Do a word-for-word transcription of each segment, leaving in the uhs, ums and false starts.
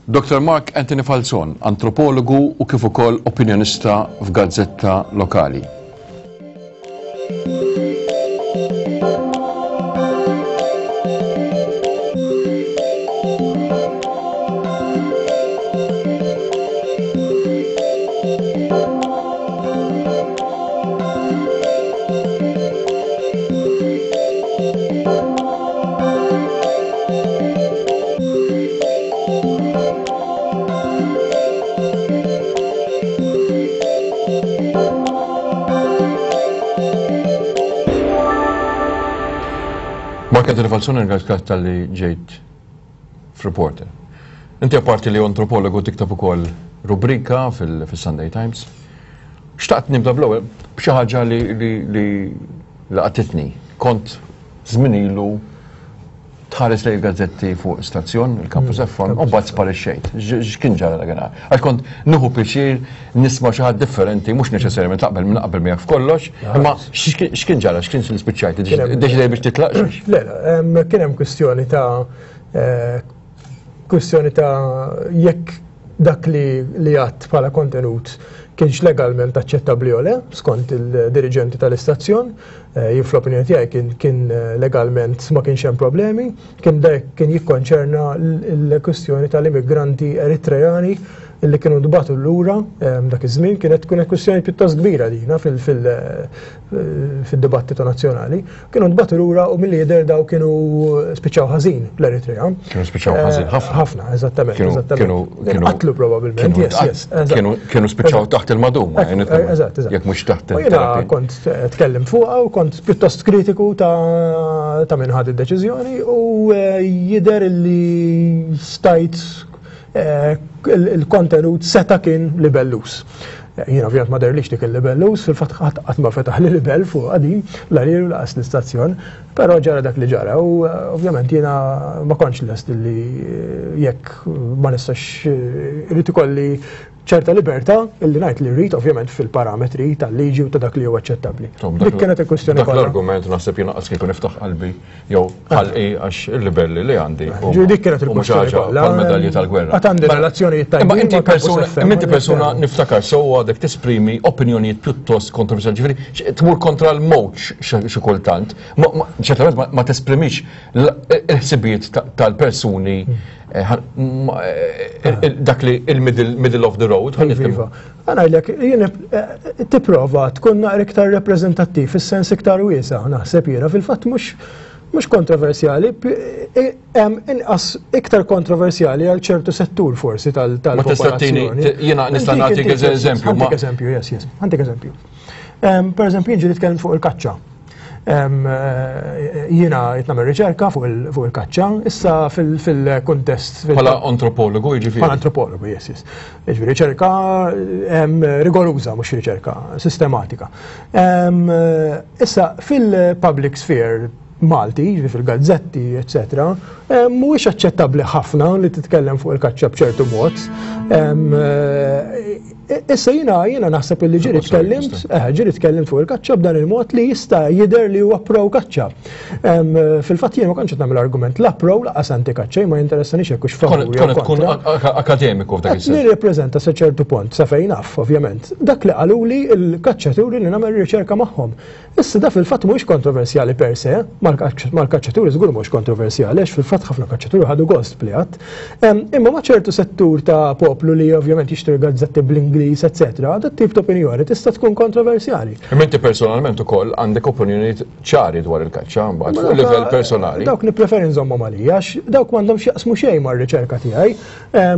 Doctor Mark Anthony Falzon, antropologu u kif ukoll opinjonista f'gazzetta lokali. Mark Anthony Falzon, ringrazzjak tal-li ġejt f'Reporter. Inti apparti li antropologu tikteb ukoll rubrika fil-Sunday Times. Xtaqt nibda bl-ewwel b'xi ħaġa li li laqtitni. Kont żmien ilu tħares lejn gazzetti fuq stazzjon, il-Campus F M, u mbagħad sparixxejt. X'kien ġara dakinhar? Għax kont nieħu pjaċir nisma' xi ħadd differenti, mhux neċessarjament taqbel minn qabel miegħek f'kollox, imma x'kien ġara, x'kien spiċċajt? Iddeċidej biex titlaq? Le, le, kien hemm kwistjoni ta' kwistjoni ta' jekk dak li għadd bħala kontenut kienx legalment aċċettabbli jew le, skont il-diriġenti tal-istazzjon. Jien fl-opinjoni tiegħi kien kien legalment ma kienx hemm problemi, kien dak kien jikkonċerna l-kwistjoni tal-immigranti Eritrejani li kienu ntbagħtu lura dak iż-żmien. Kienet tkun kwistjoni pjuttost kbira dina fil-dibattitu nazzjonali. Kienu ntbagħtu lura u milli jidher daw kienu spiċċaw ħażin l-Eritrea. Kienu spiċċaw ħażin ħafna. Ħafna, eżattament, eżattament. Qatlu probabbilment, yes, yes. Kienu spiċċaw taħt il-maduma, Eżatt, eżatt. Jekk mhux taħt il-. Jiena kont tkellem fuqha u kont pjuttost kritiku ta' min ħad id-deċiżjoni u jidher li stajt il-kontenut seta' kien libellus. Jiena ovvjament ma derlix dik il-libellus, fil-fatt qatt ma fetaħ li libell fuq qadim, la lilu laqas l-istazzjon, però ġara dak li ġara u ovvjament jiena ma kontx lest li jekk ma nistax irid ikolli ċerta libertà illi ngħid li rrid ovvjament fil-parametri tal-liġi u ta' dak li huwa aċċettabbli. Dik kienet il-kwistjoni kollha. Dak l-argument naħseb jiena qas kieku niftaħ qalbi jew ħalqi għax il-libelli li għandi. Ġifieri dik kienet il-kwistjoni kollha. Bħal-medalji tal-gwerra. Għad għandi relazzjonijiet tajbin. Imma inti persuna, imma inti persuna niftakar sewwa għadek tesprimi opinjonijiet pjuttost kontroversjali, ġifieri tmur kontra l-mowġ xi kultant. Ċertament ma tesprimix il-ħsibijiet tal-persuni dak li il-middle of the road. Iva. Għanajlek, jien tipprova tkun naqra iktar reprezentattiv fis-sens iktar wiesa', naħseb jiena fil-fatt mhux mhux kontroversjali, hemm inqas iktar kontroversjali għal ċertu settur forsi tal-popolazzjoni. Jiena nista' nagħtik eżempju. Għandek eżempju, yes, yes. Għandek eżempju. Per eżempju, jien ġieli nitkellem fuq il-kaċċa. Jiena qed nagħmel riċerka fuq il-kaċċa, issa fil-kuntest. Bħala antropologu, jiġifieri. Bħala antropologu, yes, yes. Jiġifieri riċerka rigoruża, mhux riċerka sistematika. Issa fil-public sphere Malti, jiġifieri fil-gazzetti, eccetera, mhuwiex aċċettabbli ħafna li titkellem fuq il-kaċċa b'ċertu mod. Issa jiena jiena naħseb illi ġieli tkellimt, ġieli tkellimt fuq il-kaċċa b'dan il-mod li jista' jidher li huwa pro kaċċa. Fil-fatt jien ma kontx qed nagħmel argument la pro laqas anti-kaċċa, ma jinteressanix jekk hux favur jew kontra. Tkun akademiku f'dak is-sens. Nirrepreżenta sa ċertu punt, sa fejn naf, ovvjament. Dak li qaluli l-kaċċaturi li nagħmel riċerka magħhom. Issa da fil-fatt mhuwiex kontroversjali per se, mal-kaċċaturi żgur mhux kontroversjali, għax fil-fatt ħafna kaċċaturi ħadu gost bli għadd. Imma ma' ċertu settur ta' poplu li ovvjament jixtri gazzetti bl-Ingliż, eccetera, dat tip ta' opinjoni tista' tkun kontroversjali. Imma inti personalment ukoll għandek opinjonijiet ċari dwar il-kaċċa mbagħad fuq livell personali. Dawk nippreferi nżommhom għalija għax dawk m'għandhomx jaqsmu xejn mar-riċerka tiegħi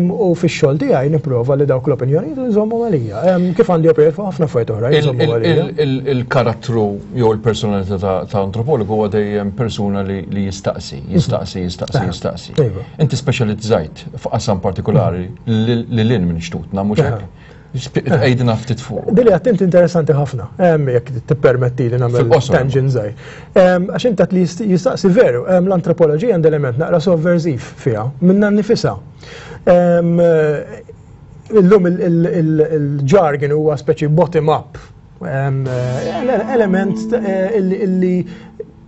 u fix-xogħol tiegħi nipprova li dawk l-opinjonijiet nżommhom għalija. Kif għandi opinjonijiet fuq ħafna affarijiet oħra nżommhom għalija. Il-karattru jew il-personalità ta' antropologu huwa dejjem persuna li jistaqsi, jistaqsi, jistaqsi, jistaqsi. Inti speċjalizzajt f'qasam partikolari li lil minn xtutna, mhux hekk? Għidna ftit fuq. Dili għattimt interessanti ħafna, jekk tippermetti li nagħmel tangent żgħir. Għax inti li jistaqsi veru, l-antropoloġija għandha element naqra sovversiv fiha, minnha nnifisha. Illum il-jargon huwa speċi bottom up, element illi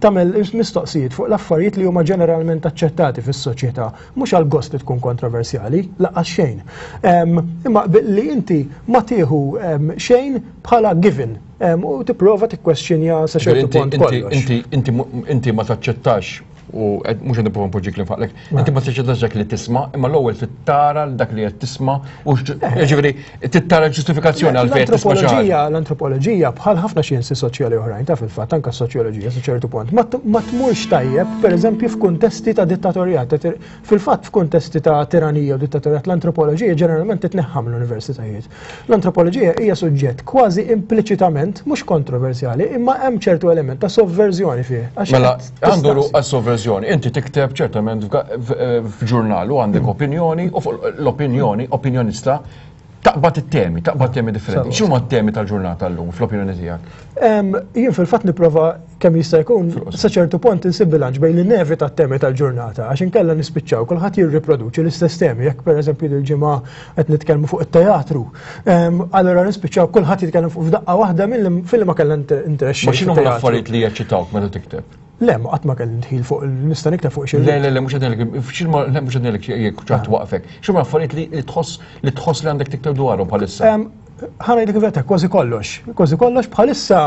Tagħmel mistoqsijiet fuq l-affarijiet li huma ġeneralment aċċettati fis-soċjetà, mhux għal gost li tkun kontroversjali, lanqas xejn. Imma li inti ma tieħu xejn bħala given u tipprova tikkwestjonja sa ċertu punt kollox. Inti ma taċċettax, u mhux qed nipprova npoġġi kliem f'ħalqek, inti ma taċċettax dak li tisma', imma l-ewwel tittara dak li qed tisma' u ġifieri tittara ġustifikazzjoni għal fejn tisma' xi ħaġa. L-antropoloġija, bħal ħafna xjenzi soċjali oħrajn, ta' fil-fatt anke soċjoloġija sa ċertu punt, ma tmurx tajjeb, pereżempju, f'kuntesti ta' dittatorjat. Fil-fatt, f'kuntesti ta' tiranija u dittatorjat, l-antropoloġija ġeneralment titneħħa mill-universitajiet. L-antropoloġija hija suġġett kważi impliċitament mhux kontroversjali, imma hemm ċertu element ta' sovverżjoni fih. Mela, għandu għas-sovverżjoni. Inti tikteb ċertament f'ġurnal u għandek opinjoni u fuq l-opinjoni, opinjonista, taqbad it-temi, taqbad temi differenti. X'huma t-temi tal-ġurnata llum fl-opinjoni tiegħek? Jien fil-fatt nipprova kemm jista' jkun sa ċertu punt insib bilanċ bejn li nevita t-temi tal-ġurnata, għax inkella nispiċċaw kulħadd jirriproduċi l-istess temi. Jekk, pereżempju, il-ġimgħa qed nitkellmu fuq it-teatru, allura nispiċċaw kulħadd jitkellem fuq f'daqqa waħda fil ma kellha interess. Ma x'inhu l-affarijiet li jeċċitawk meta tikteb? Le, ma qatt ma kelli ndħil fuq, nista' nikteb fuq xi. Le, le, le, mhux qed le, mhux qed jekk ċaħt waqfek. X'huma affarijiet li tħoss li tħoss li għandek tikteb dwarhom bħalissa? Ħa ngħidlek il-verità, kważi kollox. Kważi kollox. Bħalissa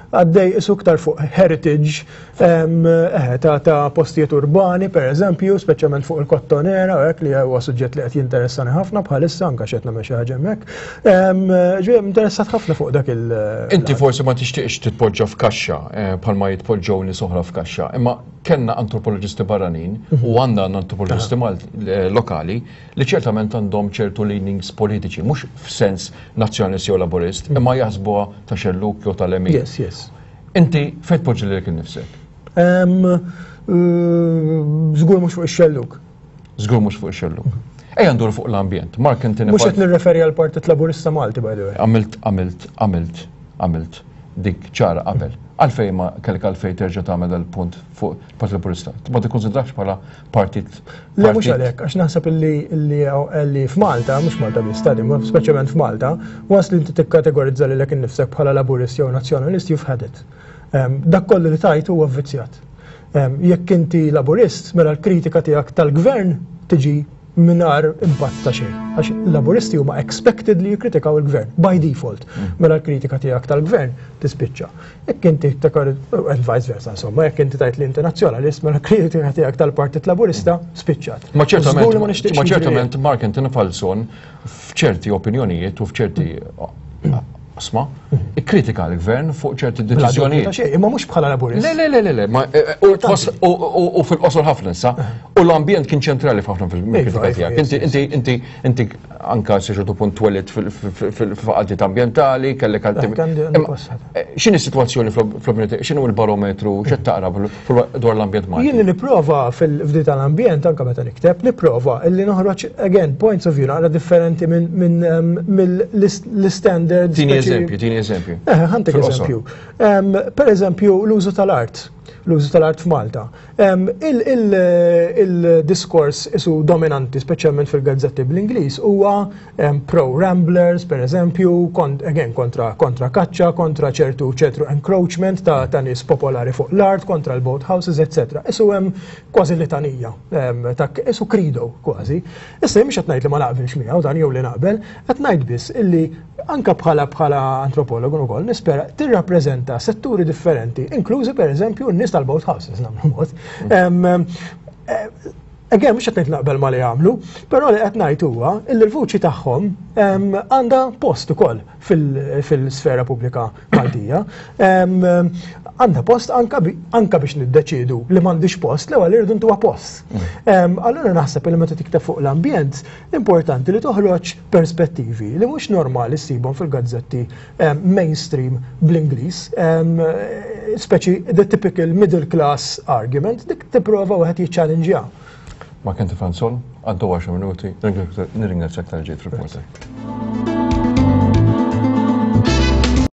għaddej isu iktar fuq heritage eh, ta' ta' postijiet urbani, per eżempju, speċjalment fuq il-Kottonera, hekk li huwa suġġett li qed jinteressani ħafna bħalissa, anke x'qed nagħmel xi ħaġa hemmhekk. Ġej interessat ħafna fuq dak il- Inti forsi ma tixtieqx titpoġġa f'kaxxa eh, bħalma jitpoġġew nies oħra f'kaxxa, imma kellna antropoloġisti barranin u għandna antropoloġisti eh, lokali li ċertament għandhom ċertu leanings politiċi, mhux f'sens nazzjonalist jew laburist, imma jaħsbuha ta' xelluk jew tal-lemin. Yes, yes. Inti fejn tpoġġi lilek innifsek? Żgur mhux fuq ix-xelluk. Żgur mhux fuq ix-xelluk. Ejja ndur fuq l-ambjent. Mark Anthony. Mhux qed nirreferi għal Partit Laburista Malti, by the way. Għamilt, għamilt, għamilt, għamilt dik ċara qabel. Għalfej ma kellek għalfej terġa' tagħmel dal-punt fuq Partit Laburista? Ma tikkonsidrax bħala partit? Le, mhux għalhekk, għax naħseb illi li f'Malta, mhux Malta biss, tadi, speċjalment f'Malta, once li inti tikkategorizza lilek innifsek bħala Laburist jew Nazzjonalist, you've had it. Dak kollu li tajt huwa vvizzjat. Jekk inti Laburist, mela l-kritika tiegħek tal-gvern tiġi mingħajr impatt ta' xejn. Għax Laburisti huma expected li jikkritikaw il-gvern by default. Mm. Mela l-kritika tiegħek tal-gvern tispiċċa. Jekk inti and vice versa, insomma, jekk inti tajt li inti nazzjonalist, mela l-kritika tiegħek tal-Partit Laburista spiċċat. Ma ċertament, ma ċertament Mark Anthony Falzon f'ċerti opinjonijiet u f'ċerti asma, ikkritika l-gvern fuq ċerti deċiżjonijiet. Imma mhux bħala Laburist. Le, le, le, le, le, u fil-qosor ħafna issa, u l-ambjent kien ċentrali f'ħafna fil-kritika tiegħek. Inti, inti, inti, inti anka sa ċertu punt twelidt fil-faqaltiet ambientali, kellek għalti. X'inhi s-sitwazzjoni fl-opinjoni, x'inhu l-barometru, x'qed taqra dwar l-ambjent Malti? Jien nipprova fil-fdi tal-ambjent, anka meta nikteb, nipprova illi noħroġ again points of view naqra differenti minn mill-standards. Tini eżempju, tini eżempju. Eh, ħa ntik eżempju. Per eżempju, l-użu tal-art, l-użu tal-art f'Malta. Il-diskors isu dominanti, speċjalment fil-gazzetti bl-Ingliż, huwa pro-ramblers, per eżempju, again, kontra, kontra kaċċa, kontra ċertu ċertu encroachment ta' ta' nies popolari fuq l-art, kontra l-boat houses, et cetera. Isu hemm kważi litanija, ta' isu credo kważi. Issa mhux qed ngħid li ma naqbilx miegħu dan jew li naqbel, qed ngħid biss illi anka bħala bħala antropologu ukoll nispera tirrappreżenta setturi differenti, inklużi, per eżempju, n-nies tal-boat houses, nagħmlu mod. Again, mhux qed ngħid naqbel ma li jagħmlu, però li qed ngħid huwa illi l-vuċi tagħhom għandha post ukoll fil-sfera pubblika Maltija. Għandha post anka biex niddeċidu li m'għandix post, l-ewwel irridu ntuha post. Allura naħseb li meta tikteb fuq l-ambjent, importanti li toħroġ perspettivi li mhux normali ssibhom fil-gazzetti mainstream bl-Ingliż, speċi the typical middle class argument, dik tipprova wieħed jiċċallenġja. Mark Anthony Falzon, għaddu għaxar minuti, nirringrazzjak talli ġejt Reporter.